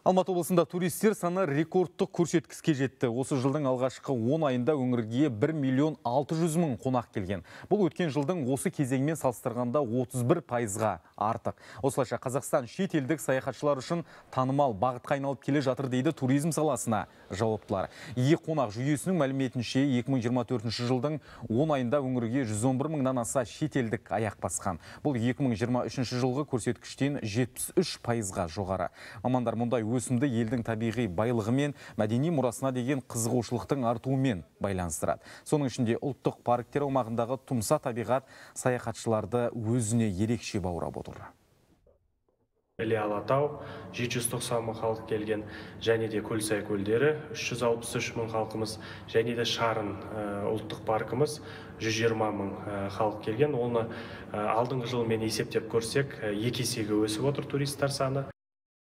Алматы облысында туристер саны рекордтық көрсеткішке жетті. Осы жылдың алғашқы 10 айында өңірге 1 миллион 600 мың қонақ келген. Бұл өткен жылдың осы кезеңмен салыстырғанда 31%-ға артық. Осылайша Қазақстан шет елдік саяхатшылар үшін танымал бағытқа айналып келе жатыр дейді туризм саласына жауаптылар. Қонақ жүйесінің мәліметінше 2024 жылдың 10 айында өңірге 111 мыңнан аса шетелдік аяқ басқан. Бұл 2023 жылғы көрсеткіштен 73%-ға жоғары. Мамандар мұндай өсімді елдің табиғи байлығы мен мәдени мұрасына деген қызығушылықтың артуымен байланыстырады. Соның ішінде ұлттық парктер аумағындағы тұмса табиғат саяхатшыларды өзіне ерекше баурап отыр. Іле-Алатау 790 мың халық келген, және де Көлсай көлдері 363 мың халқымыз, және де Шарын ұлттық паркымыз 120 мың халық келген. Оны алдыңғы жылмен есептеп көрсек, 2 есеге өсіп отыр туристер саны.